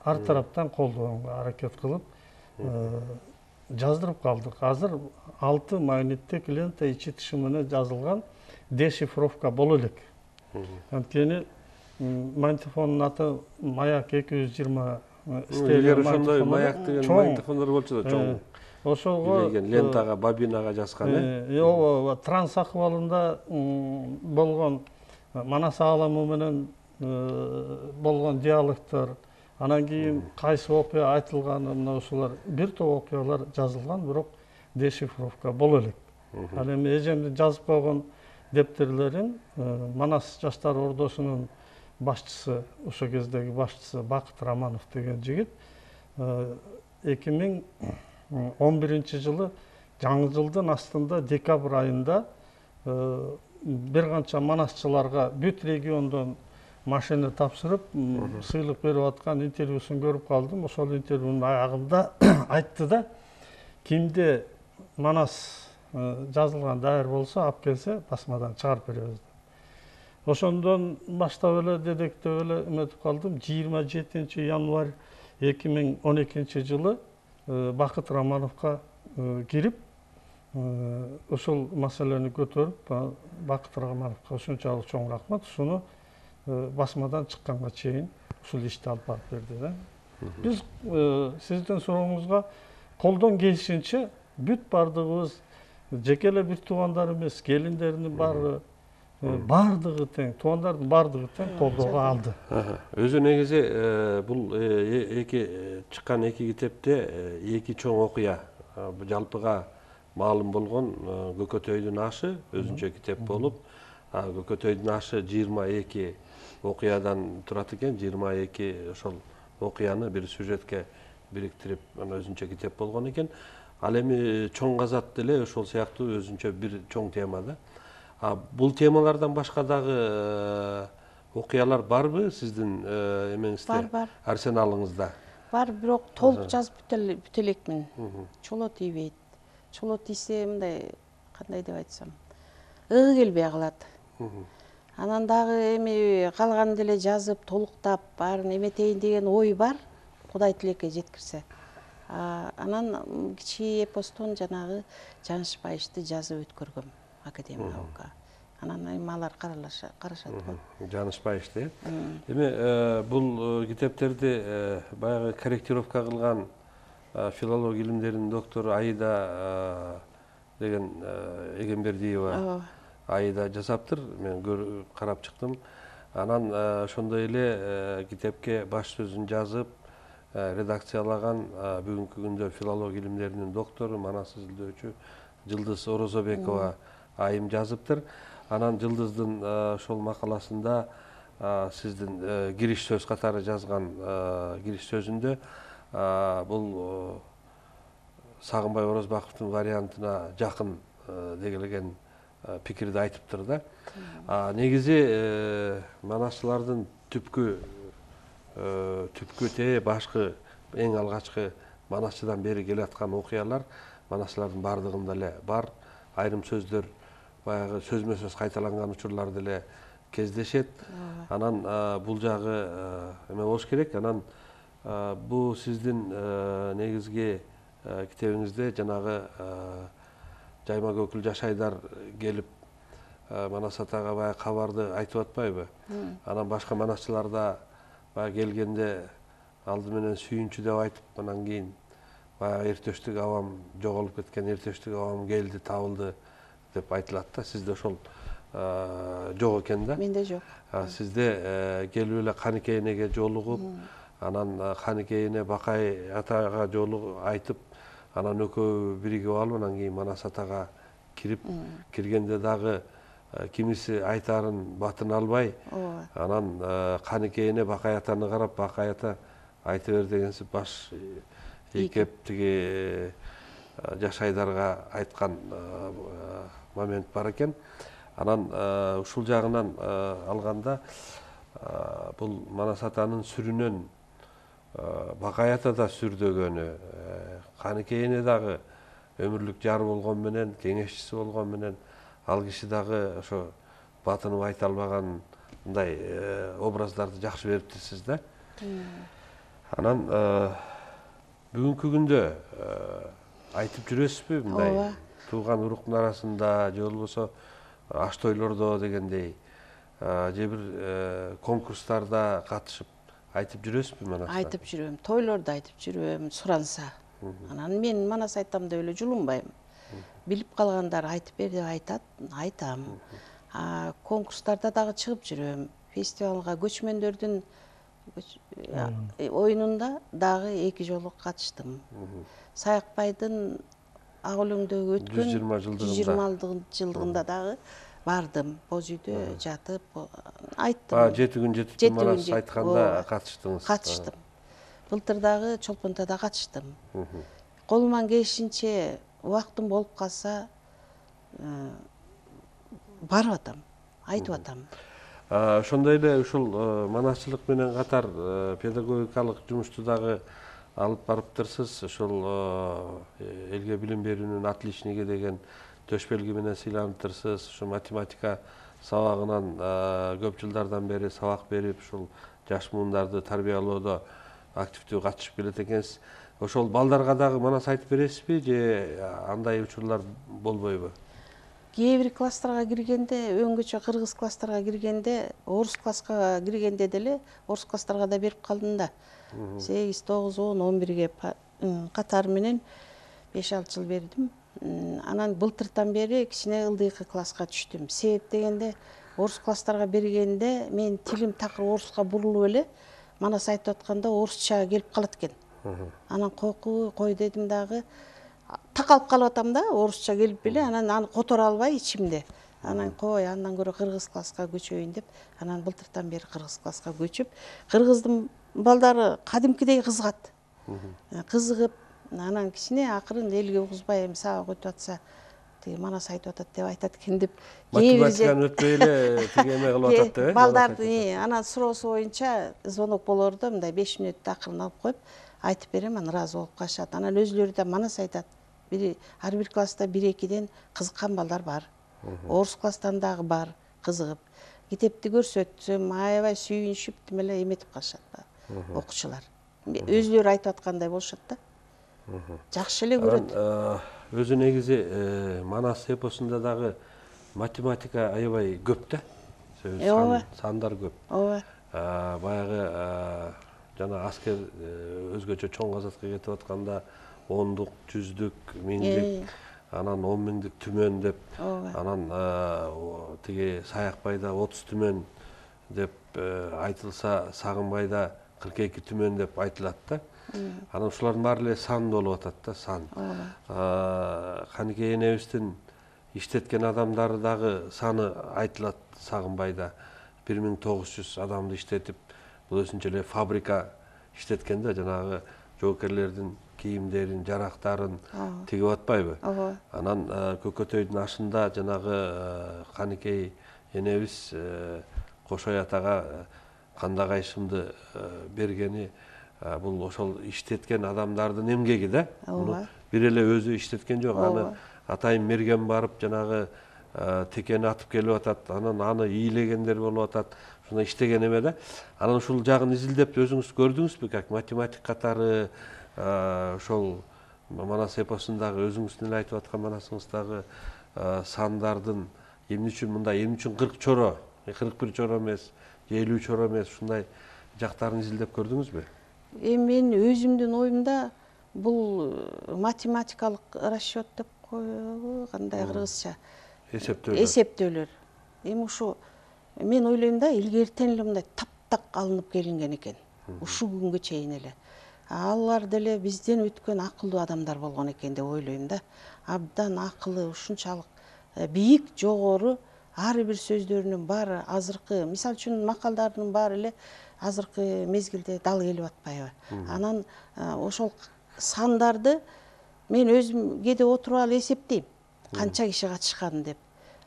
ар тараптан колдогонго аракет кылып жаздырып калдык. Азыр 6 магниттик лента ичи тышы менен жазылган дешифровка боло элек. Анткени магнитофондун аты Маяк 220 Эгер ошондой маяк деген магнитофондор болчу да, чоң. Ошого лентага, бобинага жазган, ооба, транс акыбалында болгон манас аламы менен болгон диалогтор, анан кийин кайсы окуя айтылганы, мына ошолор бир топ окуялар жазылган, бирок дешифровка боло элек. Ал эми эжемдин жазып койгон дептерлерин Манас жаштар ордосунун башчысы, ошол кездеги башчысы Бакыт Раманов деген жигит 2011-жылы жаңы жылдын астында декабрь айында бир канча манасчыларга бүт региондон машина тапшырып, сыйлык берип аткан интервьюсун көрүп калдым. Ошол интервьюнун аягында айтты да, кимде манас жазылган дайыр болсо алып келсе басмадан чыгарып беребиз. Ошондон баштап эле дедектеп эле эметип калдым. 27 январь 2012-жылы Бакыт Рамановго кирип, ошол маселени көтөрүп, Бакыт Рамановго ушунчалык чоң рахмат, ушуну басмадан чыкканга чейин ушул ишти алып барып берди да. Биз сиздин сурооңузга колдон келишинче бүт бардыгыбыз жеке эле бир туугандар эмес, келиндердин баары бардыгы тең, туугандардын бардыгы тең колдоого алды. Өзү негизи бул эки чыккан эки китепте эки чоң окуя жалпыга маалым болгон. Көкөтөйдүн ашы өзүнчө китеп болуп, Көкөтөйдүн ашы 22 окуядан турат экен. 22 ошол окуяны бир сюжетке бириктирип, анан өзүнчө китеп болгон экен. Ал эми чоң казат деле ошол сыяктуу өзүнчө бир чоң тема да. Бул темалардан башка дагы окуялар барбы сиздин эмеңизде? Бар. Арсеналыңызда? Бар, бирок толук жазып бүтө элекмин. Чоло тийбейт. Чоло тийсе мындай, кандай деп айтсам, ыгы келбей калат. Анан дагы эми калганын деле жазып, толуктап, баарын эметейин деген ой бар, Кудай тилекке жеткирсе. Анан кичи эпостон жанагы Жанышбаевди жазып өткөргөм академиялыкка. Анан эми алар карашат го. Жанышбаевди. Эми бул китептерди баягы корректировка кылган филология илимдеринин доктору Аида деген Эгембердиева Аида жасаптыр. Мен карап чыктым. Анан ошондой эле китепке баш сөзүн жазып, редакциялаган бүгүнкү күндө филология илимдеринин доктору, манас изилдөөчү Жылдыз Орозобекова айым жазыптыр. Анан Жылдыздын ошол макаласында сиздин кириш сөз катары жазган кириш сөзүндө бул Сагынбай Орозбаковдун вариантына жакын деген пикирди айтыптыр да. Негизи манасчылардын түпкү тээ башкы эң алгачкы манасчыдан бери келаткан окуялар манасчылардын бардыгында эле бар. Айрым сөздөр баягы сөзмө сөз кайталанган учурлар деле кездешет. Анан бул жагы эме болуш керек. Анан бул сиздин негизги китебиңизде жанагы Жайма Көкүл Жашайдар келип Манас атага баягы кабарды айтып атпайбы? Анан башка манасчыларда баягы келгенде алды менен сүйүнчү деп айтып, анан кийин баягы эртештик абам жоголуп кеткен, эртештик абам келди, табылды деп айтылат да. Сизде ошол жок экен да? Менде жок. Сизде келип эле Каныкейинеге жолугуп, анан Каныкейине Бакай атага жолугуп айтып, анан экөө биригип алып, анан кийин Манас атага кирип, киргенде дагы кимиси айтарын батын албай, анан Каныкейине Бакай атаны карап, Бакай ата айта бер дегенсип баш ийкеп тиги Жашайдарга айткан момент бар экен. Анан ушул жагынан алганда бул Манас атанын сүрүнөн Бакай ата да сүрдөгөнү, Каныкейине дагы өмүрлүк жары болгон менен, кеңешчиси болгон менен, ал киши дагы ошо батынып айта албагандай образдарды жакшы бериптирсиз да. Анан бүгүнкү күндө айтып жүрөсүзбү мындай тууган уруктун арасында же болбосо аш тойлордо дегендей же бир конкурстарда катышып айтып жүрөсүзбү Манас? Айтып жүрөм, тойлордо айтып жүрөм, суранса. Анан мен Манас айтам деп эле жулунбайм. Билип калгандар айтып бер деп айтат, айтам. Конкурстарда дагы чыгып жүрөм. Фестивалга көчмөндөрдүн оюнунда дагы 2 жолу катыштым. Саякбайдын Ак өлөңдөгү өткөн 120 жылдыгында дагы бардым. Боз үйдө жатып айттым. 7 күн жетип Манас айтканда катыштыңыз. Катыштым. Былтыр дагы Чолпонтада катыштым. Колуман келишинче убактым болуп калса барып атам, айтып атам. Ошондой эле ушул манасчылык менен катар педагогикалык жумушту дагы алып барыптырсыз. Ошол элге билим берүүнүн отличниги деген төш белги менен сыйланыптырсыз. Ушу математика сабагынан көп жылдардан бери сабак берип, ушул жаш муундарды тарбиялоодо активдүү катышып келет экенсиз. Ошол балдарга дагы Манас айтып бересизби же андай учурлар болбойбу? Кээ бир класстарга киргенде, өңгөчө кыргыз класстарга киргенде, орус класска киргенде деле орус класстарга да берип калдым да. 8, 9, 10, 11-ге катары менен 5-6 жыл бердим. Анан былтыртан бери кичине ылдыйкы класска түштүм. Себеп дегенде орус класстарга бергенде мен тилим такыр оруска бурулуп эле манас айтып атканда орусча келип калат экен. Анан кой дедим дагы такалып калып атам да, орусча келип эле, анан аны которо албай ичимде. Анан кой, андан көрө кыргыз класска көчөйүн деп, анан былтыртан бери кыргыз класска көчүп, кыргыздын балдары кадимкидей кызыгат. Кызыгып, анан кичине акырын элге угузбай эми сабак өтүп атса, тиги манас айтып атат деп айтат экен деп. Математиканы өтпөй эле тиги эме кылып атат деп. Балдарды анан суроосу боюнча звонок болорду, мындай 5 мүнөттө акырын алып коюп, айтып берем, анан ыраазы болуп калышат. Анан өзүлөрү да манас айтат. Ар бир класста 1-2ден кызыккан балдар бар. Орус класстан дагы бар, кызыгып. Китепти көрсөтсөм, аябай сүйүнүшүп тим эле эметип калышат окуучулар. Өзүлөрү айтып аткандай болушат да. Жакшы эле көрөт. Өзү негизи Манас эпосунда дагы математика аябай көп да. Сандар көп. Ооба. Баягы жана аскер өзгөчө чоң казатка кетип атканда 10-дук, 100-дүк, 1000-дик, анан 10 миңдик түмөн деп, анан тиги Саякбайда 30 түмөн деп айтылса, Сагынбайда 42 түмөн деп айтылат да. Анан ушулардын баары эле сан болуп атат да, сан. Каникей энебиздин иштеткен адамдары дагы саны айтылат Сагынбайда. 1900 адамды иштетип, бул өзүнчө эле фабрика иштеткен да, жанагы жоокерлердин кийимдерин, жарактарын тигип атпайбы? Анан Көкөтөйдүн ашында жанагы Каникей энебиз Кошой атага канда кайшымды бергени бул ошол иштеткен адамдардын эмгеги да. Бир эле өзү иштеткен жок. Аны атайын мерген барып жанагы текени атып келип атат, анан аны ийлегендер болуп атат. Ушуна иштеген эме да. Анан ушул жагын изилдеп өзүңүз көрдүңүзбү, как математик катары ошол Манас эпосундагы өзүңүздүн эле айтып аткан манасыңыздагы сандардын эмне үчүн мындай, эмне үчүн 40 чоро, 41 чоро эмес, 50 чоро эмес, ушундай жактарын изилдеп көрдүңүзбү? Эми мен өзүмдүн оюмда бул математикалык расчет деп коебу, кандай кыргызча? Эсептөөлөр. Эми ушу мен ойлойм да, илгертен эле мындай таптак алынып келинген экен. Ушул күнгө чейин эле. Алар деле бизден өткөн акылдуу адамдар болгон экен деп ойлойм да. Абдан акылы ушунчалык бийик, жогору, ар бир сөздөрүнүн баары азыркы, мисалы үчүн макалдардын баары эле азыркы мезгилде дал келип атпайбы. Анан ошол сандарды мен өзүм кээде отуруп алып эсептейм, канча киши катышканын деп.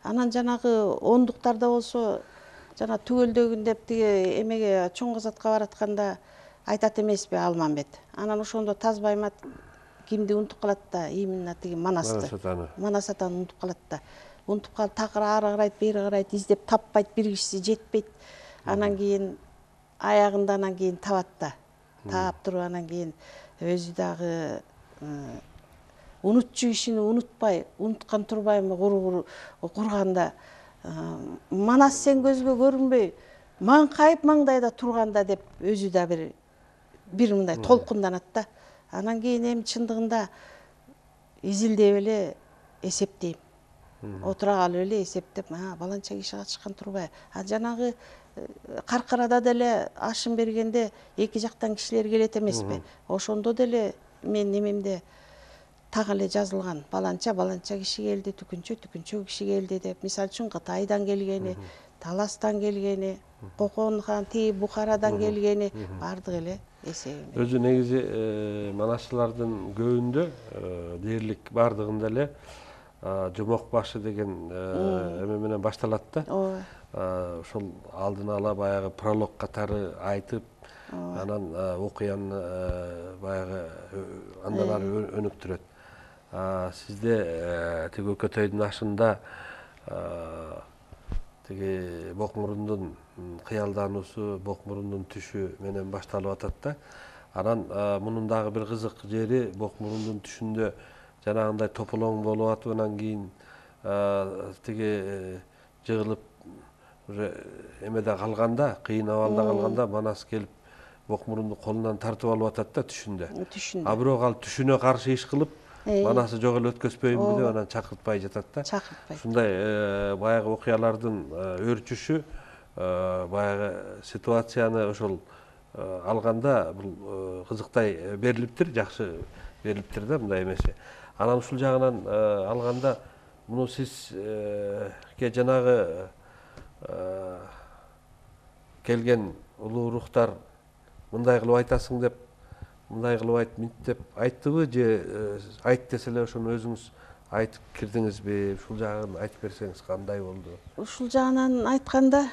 Анан жанагы ондуктарда болсо, жана түгөлдөгүн деп тиги эмеге чоң казатка баратканда айтат эмеспи Алмамбет. Анан ошондо Тазбаймат кимди унутуп калат да, именно тиги Манасты. Манас атаны унутуп калат да. Унутуп калып такыр ары карайт, бери карайт, издеп таппайт, бир кишиси жетпейт. Анан кийин аягында анан кийин табат да. Таап туруп анан кийин өзү дагы унутчу кишини унутпай, унуткан турбаймы курганда, Манас сен көзгө көрүнбөй, маңкайып маңдайда турганда деп өзү да бир мындай толкунданат да. Анан кийин эми чындыгында изилдеп эле эсептейм. Отура калып эле эсептеп, баланча киши катышкан турбайбы? Жанагы Каркарада деле ашын бергенде эки жактан кишилер келет эмеспи? Ошондо деле мен немемде так эле жазылган. Баланча киши келди, түкүнчө киши келди деп. Мисалы үчүн Кытайдан келгени, Таластан келгени, Кокон хан тиги Бухарадан келгени бардык эле эсебим. Өзү негизи манасчылардын көбүндө дээрлик бардыгында эле жомок башы деген эме менен башталат да. Ошол алдын ала баягы пролог катары айтып, анан окуяны баягы андан ары өнүктүрөт. Сизде тиги Көкөтөйдүн ашында тиги Бокмурундун кыялдануусу, Бокмурундун түшү менен башталып атат да. Анан мунун дагы бир кызык жери, Бокмурундун түшүндө жанагындай тополоң болуп атып, анан кийин тиги жыгылып уже эмеде калганда, кыйын абалда калганда Манас келип ок мурунду колунан тартып алып атат да түшүндө. Түшүндө. А бирок ал түшүнө каршы иш кылып, манасы жок эле өткөзпөйүнбү деп анан чакыртпай жатат да. Чакыртпай. Ушундай баягы окуялардын өөрчүшү баягы ситуацияны ошол алганда бул кызыктай берилиптир, жакшы берилиптир да мындай эмеси. Анан ушул жагынан алганда муну сизге жанагы келген улуу рухтар мындай кылып айтасың деп, мындай кылып айт, мынт деп айттыбы же айт десе эле ошону өзүңүз айтып кирдиңизби? Ушул жагын айтып берсеңиз кандай болду? Ушул жагынан айтканда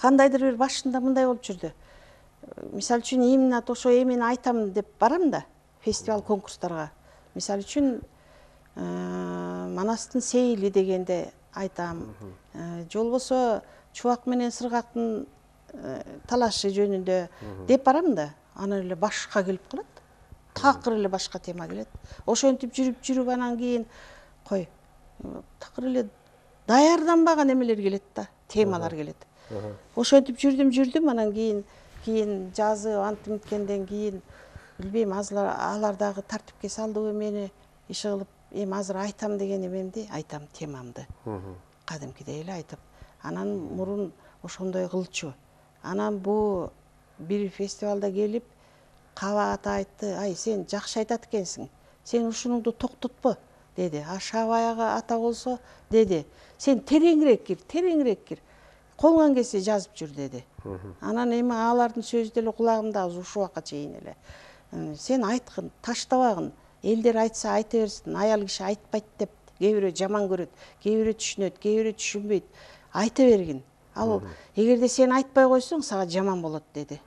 кандайдыр бир башында мындай болуп жүрдү. Мисалы үчүн именно ошо эмени айтам деп барам да фестиваль конкурстарга. Мисалы үчүн Манастын сейили дегенде айтам. Же болбосо Чубак менен Сыргактын талашы жөнүндө деп барам да, анан эле башка келип калат. Такыр эле башка тема келет. Ошентип жүрүп анан кийин кой такыр эле даярданбаган эмелер келет да, темалар келет. Ошентип жүрдүм, анан кийин жазып антимкенден кийин билбейм, алар дагы тартипке салдыбы мени, иши кылып, эми азыр айтам деген эмемди, айтам темамды. Кадимкидей эле айтып. Анан мурун ошондой кылчу. Анан бул бир фестивалда келип кабат айтты, ай сен жакшы айтат экенсиң, сен ушунуңду токтотпо деди. Аша баягы ата болсо деди, сен тереңирээк кир, колуңан келсе жазып жүр деди. Анан эми алардын сөзү деле кулагымда ушул убакка чейин эле. Сен айткын, таштабагын, элдер айтса айта берсин, аял киши айтпайт деп кээ бирөө жаман көрөт, кээ бирөө түшүнөт, кээ бирөө түшүнбөйт. Айта бергин. Ал эгерде сен айтпай койсоң, сага жаман болот деди.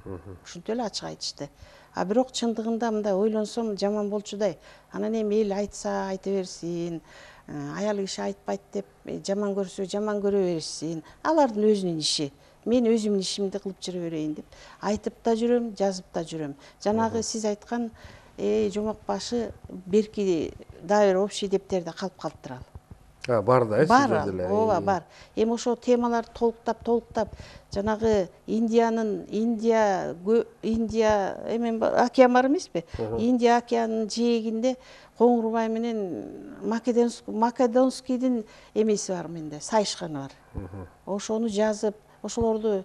Ушинтип эле ачык айтышты. А бирок чындыгында мындай ойлонсом жаман болчудай. Анан эми эл айтса айта берсин, аял киши айтпайт деп жаман көрсө жаман көрө берсин. Алардын өзүнүн иши. Мен өзүмдүн ишимди кылып жүрө берейин деп айтып да жүрөм, жазып да жүрөм. Жанагы сиз айткан жомок башы берки дагы бир общий дептерде калып калыптыр ал. Бар да, бар деле. Ооба, бар. Эми ошо темаларды толуктап, жанагы Индия океан бар эмеспи? Индия океанынын жээгинде Коңурбай менен Македонскийдин эмеси бар менде, сайышканы бар. Ошону жазып, ошолорду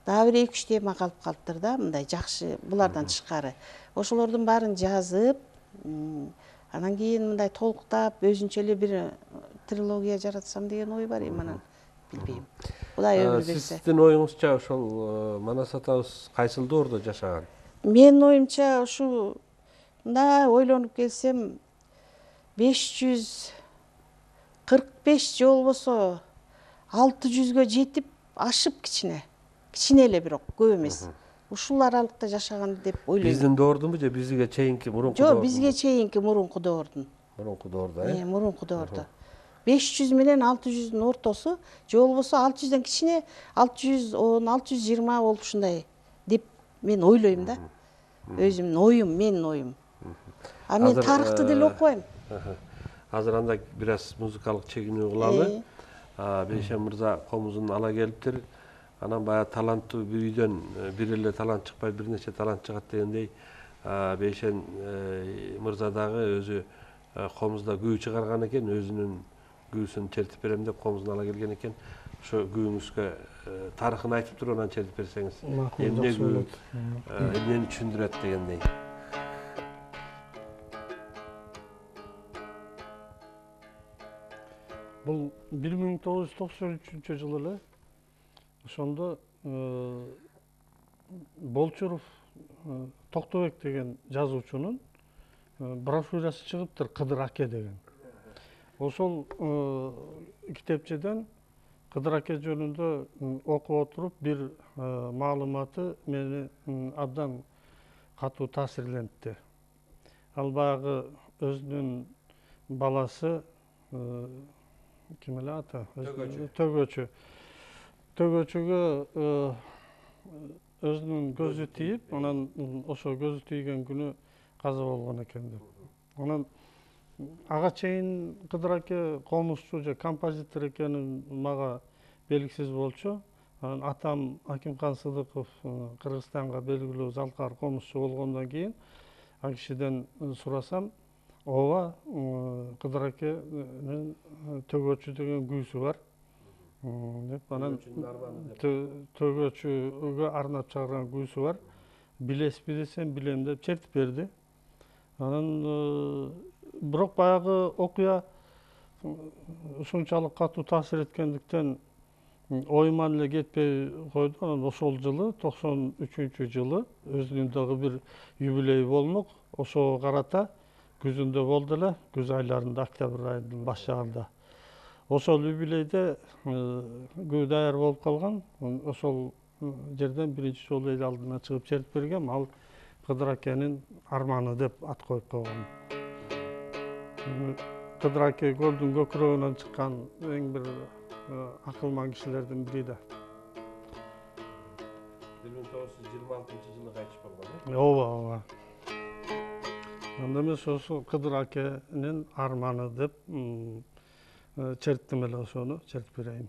дагы бир 2-3 тема калып калыптыр да, мындай жакшы булардан тышкары. Ошолордун баарын жазып, анан кийин мындай толуктап, өзүнчө эле бир трилогия жаратсам деген ой бар эми, анан билбейм. Кудай өмүр берсе. Сиздин оюңузча ошол Манас атабыз кайсыл доордо жашаган? Менин оюмча ушу мындай ойлонуп келсем 545 же болбосо 600гө жетип ашып кичине эле, бирок көп эмес. Ушул аралыкта жашаган деп ойлойм. Биздин доордунбу же бизге чейинки мурунку доордун? Жок, бизге чейинки мурунку доордун. Мурунку доордо, Мурунку доордо. 500 менен 600'ün ортосу, же болбосо 600'ден кичине 610-620 болуп ушундай деп мен ойлойм да. Өзүмдүн оюм, менин оюм. А мен тарыхты деле окубайм. Азыр анда бир аз музыкалык чегинүү кылалы. Бейшен мырза комузун ала келиптир. Анан баягы таланттуу бир үйдөн бир эле талант чыкпай, бир нече талант чыгат дегендей, Бейшен мырза дагы өзү комузда күү чыгарган экен, өзүнүн күүсүн чертип берем деп комузун ала келген экен. Ошо күүңүзгө тарыхын айтып туруп анан чертип берсеңиз, эмне күү, эмнени түшүндүрөт дегендей. Бул 1993-жылы эле ошондо Болчуров Токтобек деген жазуучунун брошюрасы чыгыптыр, Кыдыр аке деген. Ошол китепчеден Кыдыр аке жөнүндө окуп отуруп бир маалыматы мени абдан катуу таасирлентти. Ал баягы өзүнүн баласы ким эле аты? Төгөчүгө өзүнүн көзү тийип, анан ошо көзү тийген күнү каза болгон экен деп. Анан ага чейин Кыдыр аке комузчу же композитор экени мага белгисиз болчу. Анан атам Акимхан Сыдыков Кыргызстанга белгилүү залкар комузчу болгондон кийин ал кишиден сурасам, ооба Кыдыр акенин төгөөчү деген күүсү бар деп, анан төгөөчүгө арнап чыгарган күүсү бар. Билесизби десем, билем деп чертип берди. Анан бирок баягы окуя ушунчалык катуу таасир эткендиктен оюман эле кетпей койду. Анан ошол жылы 93-жылы өзүнүн дагы бир юбилеи болмок. Ошого карата күзүндө болду эле, күз айларында, октябрь айынын баш жагында. Ошол юбилейде күү даяр болуп калган. Ошол жерден биринчи жолу эл алдына чыгып чертип бергем. Ал Кыдыр акенин арманы деп ат коюп койгон. Кыдыр аке көлдүн көкүрөгүнөн чыккан эң бир акылман кишилердин бири да. 1926-жылы кайтыш болгон. Ооба. Анда мен ошо Кыдыр акенин арманы деп черттим эле, ошону чертип берейин.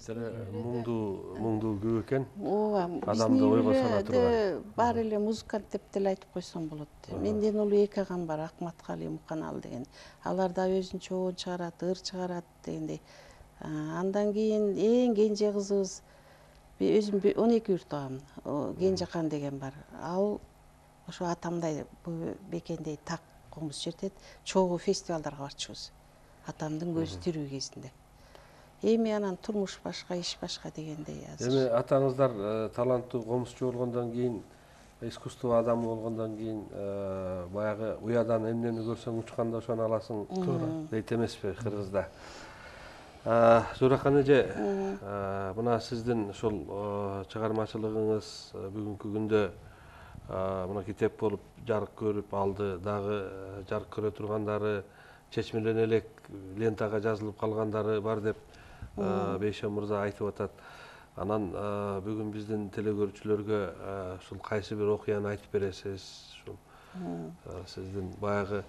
Муңдуу күү экен. Ооба, Адамды ойго сала турган. Баары эле музыкант деп деле айтып койсом болот. Менден улуу эки агам бар, Акматкали, Муканалы деген. Алар да өзүнчө оон чыгарат, ыр чыгарат дегендей. Андан кийин эң кенже кызыбыз өзүм 12 үй туугам. Кенжекан деген бар. Ал ошо атамдай бекендей так комуз чертет. Чогуу фестивалдарга барчубуз. Атамдын көзү тирүү кезинде. Эми анан турмуш башка, иш башка дегендей азыр. Эми атаңыздар таланттуу комузчу болгондон кийин, искусство адамы болгондон кийин баягы уядан эмнени көрсөң учканда ошону аласың дейт эмеспи кыргызда. Зууракан эже, мына сиздин ушул чыгармачылыгыңыз бүгүнкү күндө мына китеп болуп жарык көрүп алды, дагы жарык көрө тургандары, чечмелене элек лентага жазылып калгандары бар деп Бейшен мырза айтып атат. Анан бүгүн биздин телекөрүүчүлөргө ушул кайсы бир окуяны айтып бересиз? Ушул сиздин баягы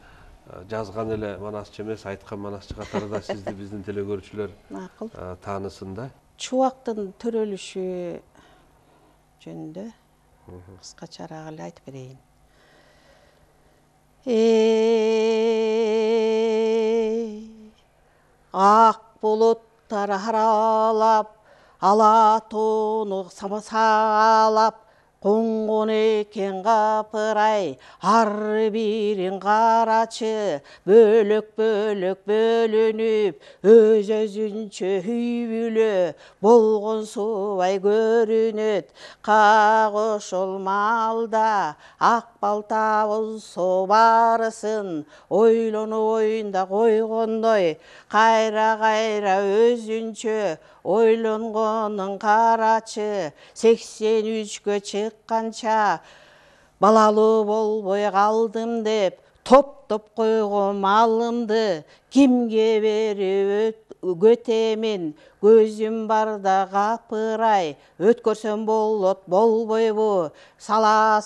жазган эле манасчы эмес, айткан манасчы катары да сизди биздин телекөрүүчүлөр таанысын да. Чубактын төрөлүшү жөнүндө кыскачараак эле айтып берейин. Ак булуттар аралап, ала тоону самасалап, коңгон экен капырай, ар бирин карачы, бөлөк-бөлөк бөлүнүп, өз-өзүнчө үй бүлө болгон субай көрүнөт. Как ошол маалда ак балта болсо барысын ойлонуп оюнда койгондой, кайра-кайра өзүнчө ойлонгонун карачы. 83-кө чыкканча балалуу болбой калдым деп, топтоп койгон малымды кимге берип өтөмүн? Көзүм барда капырай, өткөрсөм болот болбойбу? Сала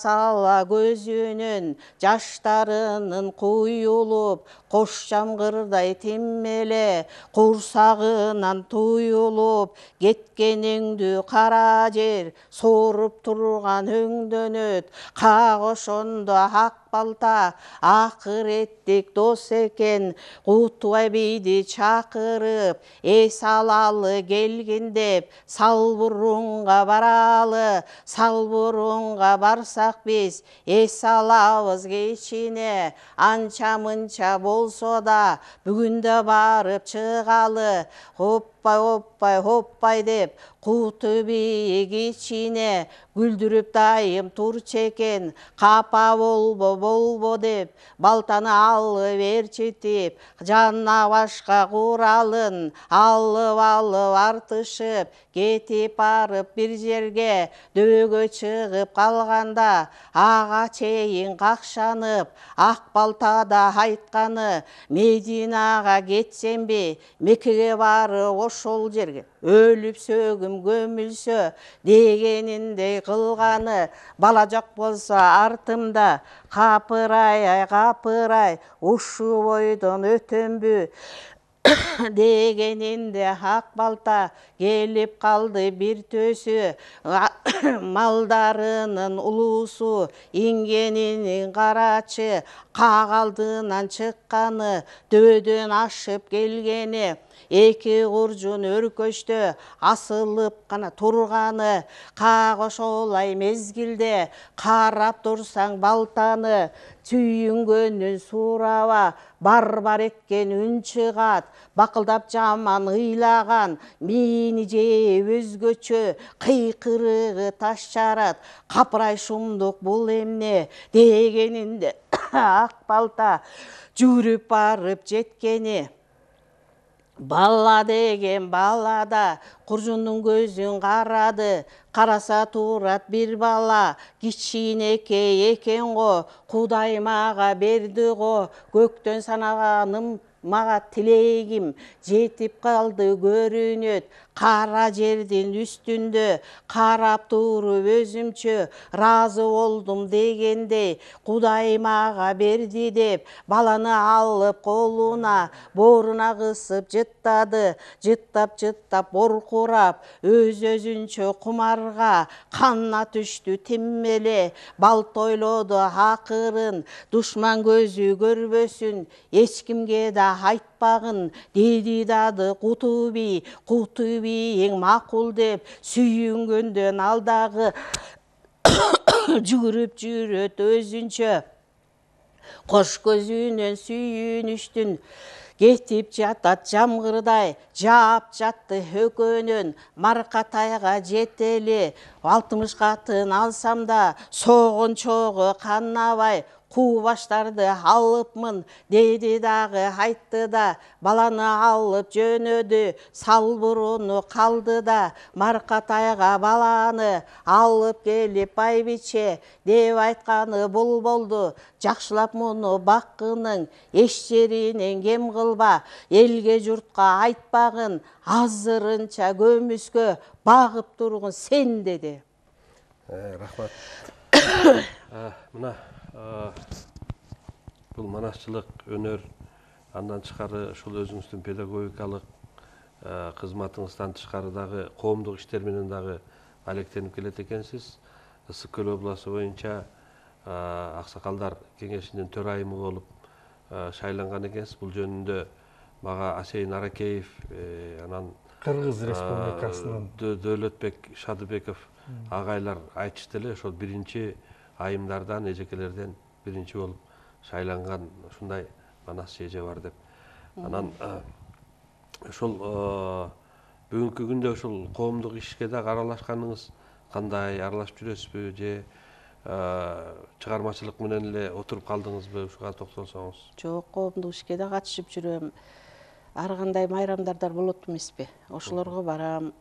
көзүнүн жаштарынын куюлуп, кош жамгырдай тиммеле курсагынан туюлуп, кеткениңдү кара жер сооруп турган өңдөнөт. Как ошондо ак балта акыреттик дос экен, Кутубай бийди чакырып, эс алалы келгин деп, Салбурунга баралы. Салбурунга барсак биз эс алабыз кечине, анча мынча болсо да бүгүн да барып чыгалы. Хоппай деп Куту бийик ичине күлдүрүп дайым турчу экен. Капа болбо деп балтаны алып ээрчитип, жанына башка куралын алып артышып кетип барып бир жерге дөбөгө чыгып калганда, ага чейин какшанып ак балтада айтканы: Мединага кетсемби, Меккеге барып ошол жерге өлүп сөгүм көмүлсө дегениндей кылганы. Бала жок болсо артымда капырай, ушул бойдон өтөмбү дегенинде ак балта келип калды бир төсү. Малдарынын улуусу ингенинин карачы, как алдынан чыкканы, дөбөдөн ашып келгени, эки куржун өркөчтө асылып гана турганы. Как ошолай мезгилде карап турсаң балтаны, сүйүнгөнүн сураба, бар эткен үн чыгат. Бакылдап жаман ыйлаган мээни жеп өзгөчө кыйкырыгы таш жарат. Капырай шумдук бул эмне дегенинде ак балта жүрүп барып жеткени. Бала деген балада куржундун көзүн карады. Караса турат бир бала, кичинекей экен го. Кудай мага берди го, көктөн санаганым мага тилегим жетип калды көрүнөт. Кара жердин үстүндө карап туруп өзүмчө ыраазы болдум дегендей, Кудай мага берди деп баланы алып колуна, бооруна кысып жыттады. Жыттап боркурап өзүнчө кумарга канына түштү тиммеле. Балта ойлоду акырын, душман көзү көрбөсүн, эч кимге да айтпа айтпагын деди дады Куту би эң макул деп сүйүнгөндөн алдагы жүгүрүп жүрөт өзүнчө кош көзүнөн сүйүнүштүн кетип жатат жамгырдай жаап жатты өкөнөн Маркатайга жетели 60 катын алсам да согончого канабай куу баштарды алыпмын деди дагы айтты да баланы алып жөнөдү салбуруну калды да Маркатайга баланы алып келип байбиче деп айтканы бул болду жакшылап муну баккының эч жеринен кем кылба элге журтка айтпагын азырынча көмүскө багып тургун сен деди. Рахмат. Мына бул манасчылык өнөр андан тышкары ушул өзүңүздүн педагогикалык кызматыңыздан тышкары дагы коомдук иштер менен дагы алектенип келет экенсиз. Ысык Көл обласу боюнча аксакалдар кеңешинин төрайымы болуп шайланган экенсиз. Бул жөнүндө мага Асейин Аракеев анан Кыргыз Республикасынын Дөөлөтбек Шадыбеков агайлар айтышты эле. Ошол биринчи айымдардан, эжекелерден биринчи болуп шайланган ушундай манас эже бар деп. Анан ошол бүгүнкү күндө ушул коомдук ишке дагы аралашканыңыз кандай? Аралашып жүрөсүзбү же чыгармачылык менен эле отуруп калдыңызбы? Ушуга токтолсоңуз. Жок, коомдук ишке да катышып жүрөм. Ар кандай майрамдардар болот эмеспи? Ошолорго барам.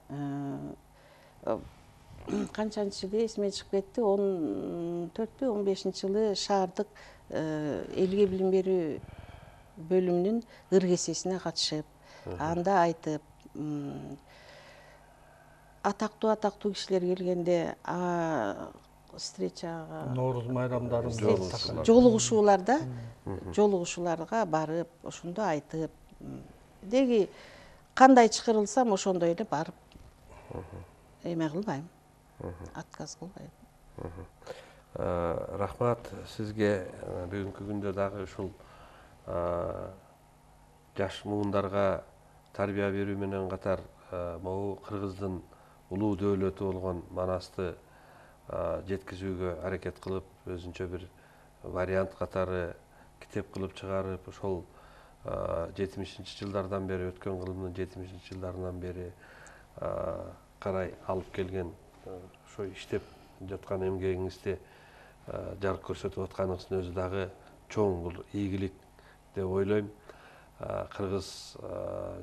Канчанчы жылы эсиме чыгып кетти. 14-15-жылы шаардык элге билим берүү бөлүмүнүн ыргесесине катышып, анда айтып, атактуу кишилер келгенде встречага, Нооруз майрамдарында жолугушууларга барып, ошондо айтып, деги кандай чакырылсам ошондой эле барып эме кылбайм, отказ кылбайм. Рахмат сизге. Бүгүнкү күндө дагы ушул жаш муундарга тарбия берүү менен катар могу кыргыздын улуу дөөлөтү болгон манасты жеткизүүгө аракет кылып, өзүнчө бир вариант катары китеп кылып чыгарып, ошол 70-жылдардан бери, өткөн кылымдын 70-жылдарынан бери карай алып келген ошо иштеп жаткан эмгегиңизди жарык көрсөтүп атканыңыздын өзү дагы чоң бул ийгилик деп ойлойм. Кыргыз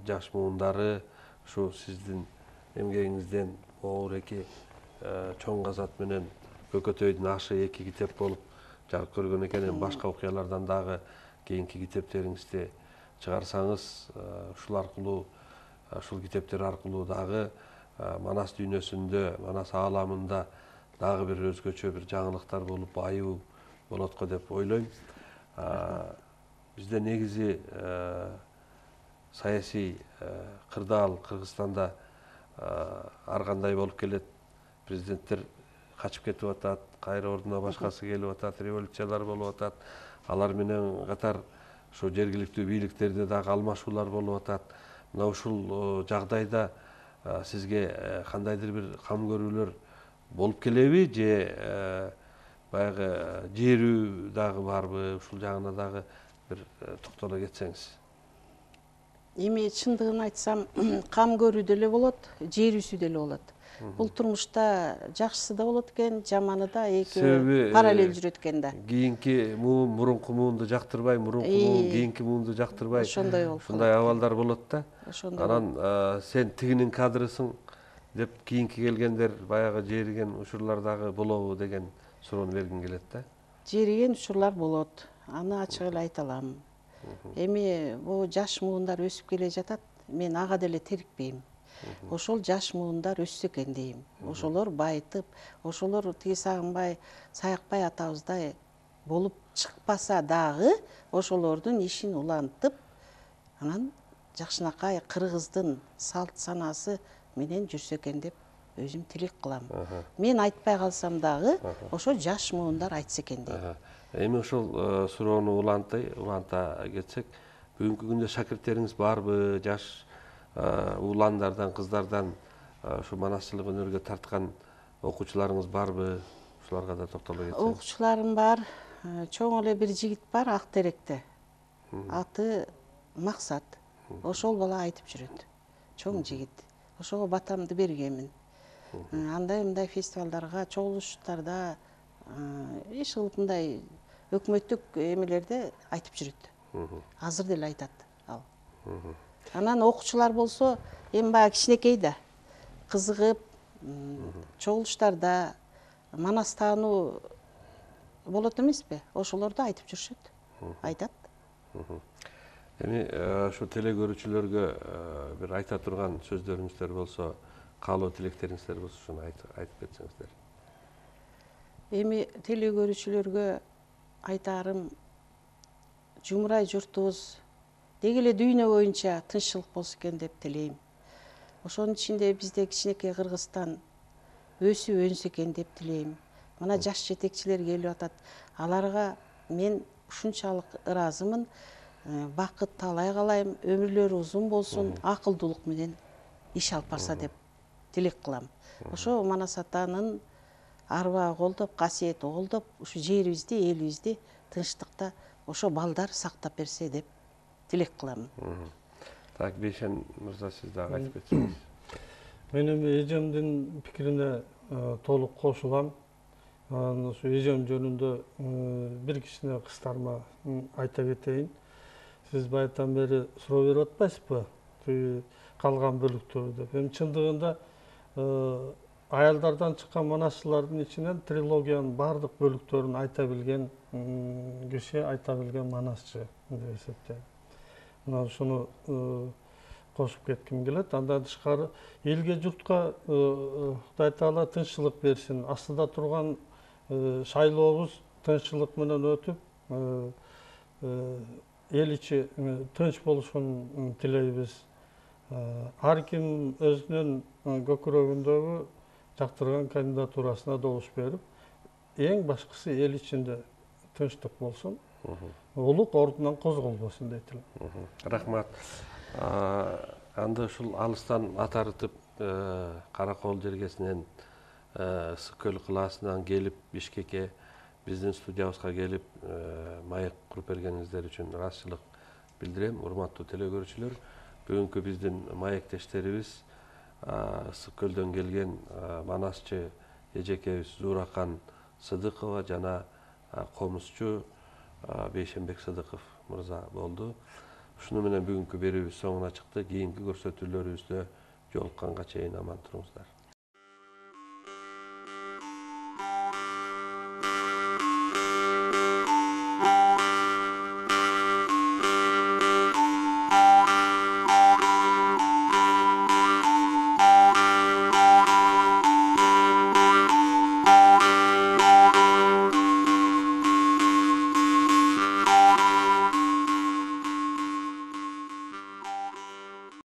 жаш муундары ушу сиздин эмгегиңизден Оореки чоң казат менен Көкөтөйдүн ашы 2 китеп болуп жарык көргөн экен. Башка окуялардан дагы кийинки китептериңизди чыгарсаңыз, ушул китептер аркылуу дагы манас дүйнөсүндө, манас ааламында дагы бир өзгөчө бир жаңылыктар болуп, аюу болот го деп ойлойм. Бизде негизи саясий кырдаал Кыргызстанда ар кандай болуп келет. Президенттер качып кетип атат, кайра ордуна башкасы келип атат, революциялар болуп атат. Алар менен катар ошо жергиликтүү бийликтерде дагы алмашуулар болуп атат. Мына ушул жагдайда сизге кандайдыр бир кам көрүүлөр болуп келеби же баягы жерүү дагы барбы? Ушул жагына дагы бир токтоло кетсеңиз. Эми чындыгын айтсам, кам көрүү деле болот, жерүүсү деле болот. Бул турмушта жакшысы да болот экен, жаманы да, экөө параллель жүрөт экен да. Кийинки муун мурунку муунду жактырбай, мурунку муун кийинки муунду жактырбай. Ошондой болуп. Ушундай абалдар болот да. Ошондой. Анан сен тигинин кадрысың деп кийинки келгендер баягы жериген учурлар дагы болобу деген суроону бергим келет да. Жериген учурлар болот. Аны ачык эле айта алам. Эми бул жаш муундар өсүп келе жатат. Мен ага деле терикпейм. Ошол жаш муундар өссө экен дейм. Ошолор байытып, ошолор тиги Сагынбай, Саякбай атабыздай болуп чыкпаса дагы, ошолордун ишин улантып, анан жакшынакай кыргыздын салт санасы менен жүрсө экен деп өзүм тилек кылам. Мен айтпай калсам дагы, ошо жаш муундар айтса экен дейм. Эми ошол суроону уланта кетсек, Бүгүнкү күндө шакирттериңиз барбы? Жаш ууландардан, кыздардан ушу манасчылык өнөргө тарткан окуучуларыңыз барбы? Ушуларга да токтоло кетсеңиз. Окуучуларым бар. Чоң эле бир жигит бар Ак Теректе. Аты Максат. Ошол бала айтып жүрөт. Чоң жигит. Ошого батамды бергенмин. Андай мындай фестивалдарга, чогулуштарда, иш кылып мындай өкмөттүк эмелерде айтып жүрөт. Азыр деле айтат ал. Анан окуучулар болсо, эми баягы кичинекей да кызыгып, чогулуштарда манас таануу болот эмеспи? Ошолорду айтып жүрүшөт. Айтат. Эми ушу телекөрүүчүлөргө бир айта турган сөздөрүңүздөр болсо, каалоо тилектериңиздер болсо, ошону айтып кетсеңиздер. Эми телекөрүүчүлөргө айтаарым, жумурай журтубуз деги эле дүйнө боюнча тынччылык болсо экен деп тилейм. Ошонун ичинде бизде кичинекей Кыргызстан өсүп өнсө экен деп тилейм. Мына жаш жетекчилер келип атат. Аларга мен ушунчалык ыраазымын. Бакыт таалай каалайм, өмүрлөрү узун болсун, акылдуулук менен иш алып барса деп тилек кылам. Ошо Манас атанын арбагы колдоп, касиети колдоп, ушу жерибизди, элибизди тынчтыкта ошо балдар сактап берсе деп тилек кылам. Так, Бейшен мырза, сиз дагы айтып кетсеңиз. Мен эми эжемдин пикирине толук кошулам. Ошо эжем жөнүндө бир кичине кыстарма айта кетейин. Сиз баягыдан бери суроо берип атпайсызбы? Калган бөлүктөрү деп. Эми чындыгында аялдардан чыккан манасчылардын ичинен трилогиянын баардык бөлүктөрүн айта билген киши, айта билген манасчы деп эсептейм. Мына ушуну кошуп кетким келет. Андан тышкары элге журтка Кудай Таала тынччылык берсин. Астыда турган шайлообуз тынччылык менен өтүп, эл ичи тынч болушун тилейбиз. Ар ким өзүнүн көкүрөгүндөгү жактырган кандидатурасына добуш берип, эң башкысы эл ичинде тынчтык болсун, улук ордунан козголбосун дейт элем. Рахмат. Анда ушул алыстан ат арытып, Каракол жергесинен, Ысык көл кылаасынан келип, Бишкекке биздин студиябызга келип, маек куруп бергениңиздер үчүн ыраазычылык билдирем. Урматтуу телекөрүүчүлөр, бүгүнкү биздин маектештерибиз Ысык көлдөн келген манасчы эжекебиз Зууракан Сыдыкова жана комузчу Бейшенбек Сыдыков мырза болду. Ушуну менен бүгүнкү берүүбүз соңуна чыкты. Кийинки көрсөтүүлөрүбүздө жолукканга чейин аман туруңуздар.